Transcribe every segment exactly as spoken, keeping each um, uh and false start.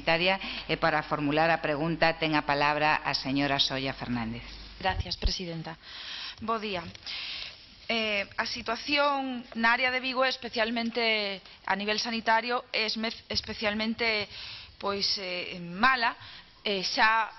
Sanitaria e para formular a pregunta ten a palabra a señora Solla Fernández. Gracias, presidenta. Bo día. Eh, a situación na área de Vigo, especialmente a nivel sanitario, é especialmente pois, eh, mala. Eh, xa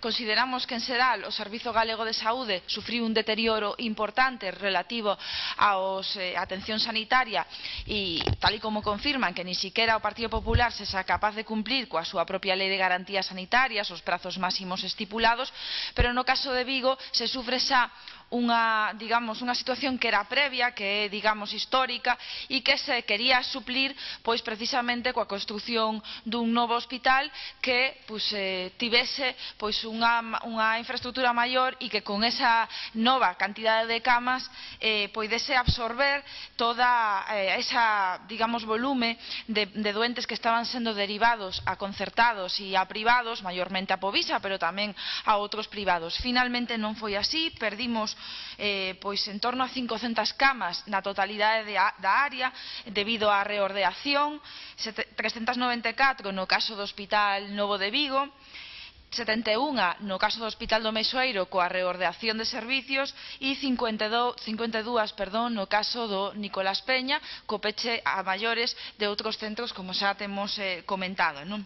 consideramos que en xeral o Servizo Galego de Saúde sufriu un deterioro importante relativo á eh, atención sanitaria e tal e como confirman que ni siquiera o Partido Popular se xa capaz de cumplir coa súa propia Lei de Garantías Sanitarias os prazos máximos estipulados, pero no caso de Vigo se sufre xa unha, digamos, unha situación que era previa, que é, digamos, histórica e que se quería suplir pois precisamente coa construción dun novo hospital que pois, eh, tivese pois unha, unha infraestructura maior e que con esa nova cantidade de camas eh, poidese absorber toda eh, esa, digamos, volume de, de doentes que estaban sendo derivados a concertados e a privados, maiormente a Povisa, pero tamén a outros privados. Finalmente non foi así, perdimos Eh, pois en torno a cincocentas camas na totalidade de a, da área debido á reordeación, trescentas noventa e catro no caso do Hospital Novo de Vigo, setenta e unha no caso do Hospital do Meixoeiro coa reordeación de servicios e cincuenta e dúas perdón, no caso do Nicolás Peña co peche a maiores de outros centros como xa temos eh, comentado, non?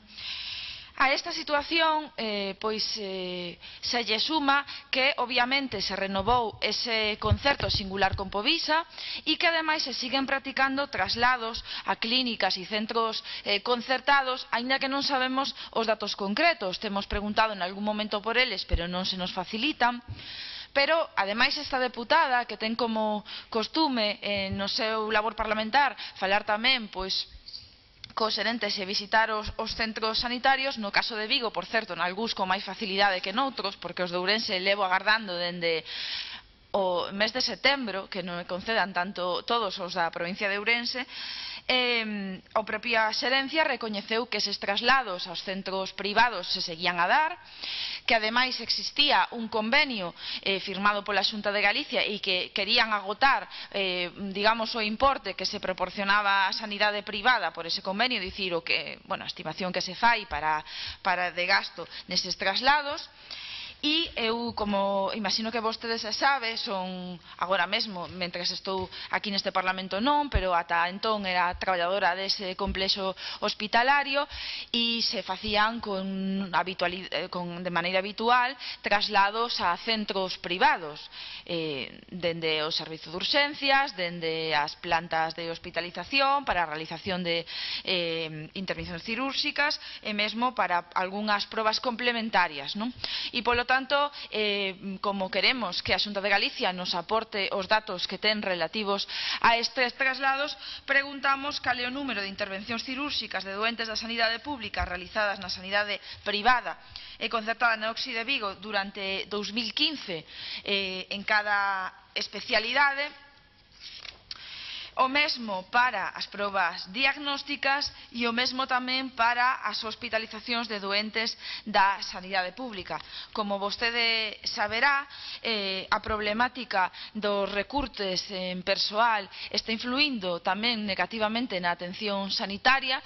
A esta situación eh, pois, eh, se lle suma que obviamente se renovou ese concerto singular con Povisa e que ademais se siguen practicando traslados a clínicas e centros eh, concertados, aínda que non sabemos os datos concretos. Temos preguntado en algún momento por eles, pero non se nos facilitan. Pero, ademais, esta deputada, que ten como costume eh, no seu labor parlamentar falar tamén, pois, cos xerentes e visitar os, os centros sanitarios, no caso de Vigo, por certo, nalgúns con máis facilidade que noutros, porque os de Ourense levo agardando dende o mes de setembro, que non me concedan tanto todos os da provincia de Ourense, eh, a propia xerencia recoñeceu que eses traslados aos centros privados se seguían a dar, que ademais existía un convenio eh, firmado pola Xunta de Galicia e que querían agotar eh, digamos o importe que se proporcionaba a sanidade privada por ese convenio, dicir o que, bueno, a estimación que se fai para, para de gasto neses traslados. E eu, como imagino que vostedes xa sabe, son agora mesmo, mentres estou aquí neste Parlamento non, pero ata entón era traballadora dese complexo hospitalario e se facían con, con, de maneira habitual traslados a centros privados, eh, dende o servizo de urxencias, dende as plantas de hospitalización para a realización de eh, intervencións cirúrxicas e mesmo para algunhas probas complementarias, non? E polo tanto, eh, como queremos que a Xunta de Galicia nos aporte os datos que ten relativos a estes traslados, preguntamos cal é o número de intervencións cirúrxicas de doentes da sanidade pública realizadas na sanidade privada e concertada na O X I de Vigo durante dous mil quince eh, en cada especialidade. O mesmo para as probas diagnósticas e o mesmo tamén para as hospitalizacións de doentes da sanidade pública. Como vostede saberá, eh, a problemática dos recurtes en persoal está influindo tamén negativamente na atención sanitaria.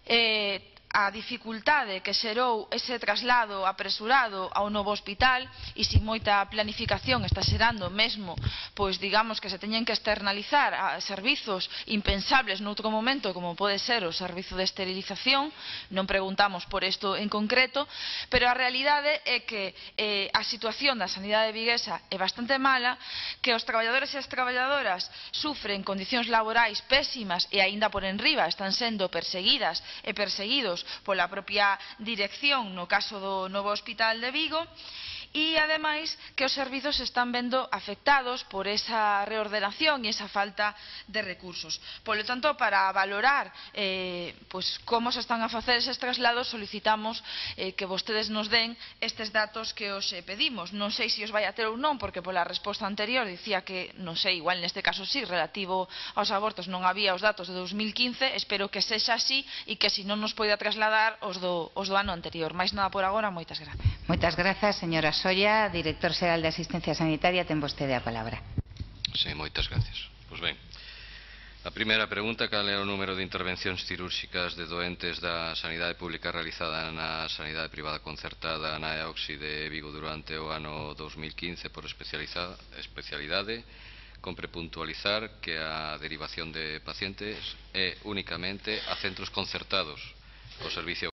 Eh, a dificultade que xerou ese traslado apresurado ao novo hospital e sin moita planificación está xerando mesmo, pois digamos que se teñen que externalizar a servizos impensables noutro momento como pode ser o servizo de esterilización. Non preguntamos por isto en concreto, pero a realidade é que eh, a situación da sanidade viguesa é bastante mala, que os traballadores e as traballadoras sufren condicións laborais pésimas e aínda por enriba están sendo perseguidas e perseguidos pola propia dirección no caso do novo hospital de Vigo e, ademais, que os servizos se están vendo afectados por esa reordenación e esa falta de recursos. Por lo tanto, para valorar eh, pues, como se están a facer eses traslados, solicitamos eh, que vostedes nos den estes datos que os eh, pedimos. Non sei se os vai a ter ou non, porque pola resposta anterior dicía que, non sei, igual neste caso sí, relativo aos abortos non había os datos de dous mil quince, espero que sexa así e que se non nos poida trasladar os do, os do ano anterior. Mais nada por agora, moitas gracias. Moitas grazas, señora Solla. Director Xeral de Asistencia Sanitaria, ten vostede a palabra. Sí, moitas gracias. Pois ben, A primeira pregunta: cal é o número de intervencións cirúrxicas de doentes da sanidade pública realizada na sanidade privada concertada na E O X I de Vigo durante o ano dous mil quince por especialidade? Compre puntualizar que a derivación de pacientes é únicamente a centros concertados co servicio